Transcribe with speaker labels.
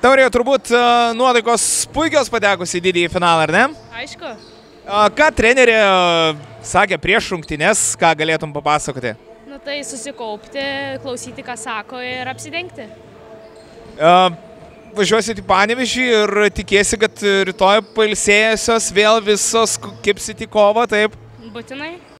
Speaker 1: Taurė, turbūt nuotaikos puikios patekus į didįjį finalą, ar ne?
Speaker 2: Aišku.
Speaker 1: Ką trenerė sakė prieš rungtynes, ką galėtum papasakoti?
Speaker 2: Nu tai susikaupti, klausyti, ką sako ir apsidengti.
Speaker 1: Važiuosit į Panevėžį ir tikėsi, kad rytoj pailsėjusios vėl visos kipsit į kovą, taip?
Speaker 2: Būtinai.